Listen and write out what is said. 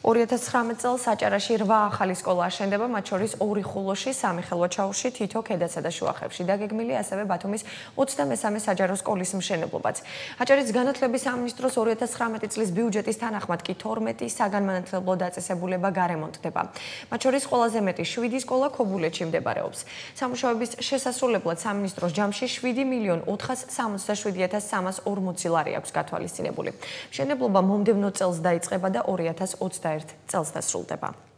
2019 წელს საჭარაში 8 ახალი სკოლა აშენდება, მათ შორის 2 ხულოში, 3 ხელვაჩაურში, თითო ქედასა და შუახევში. დაგეგმილია ასევე ბათუმის 23 საჯარო სკოლის მშენებლობაც. აჭარის განათლების სამინისტროს 2019 წლის ბიუჯეტის თანახმად კი 12 საგანმანათლებლო დაწესებულება გარემონტდება. მათ შორის ყველაზე მეტი 7 სკოლა ქობულეთში მდებარეობს. სამუშაოების შესასრულებლად სამინისტროს ჯამში 7.467.340 ლარი აქვს გათვალისწინებული. მშენებლობა მომდევნო წელს დაიწყება და 2021 წელს დასრულდება.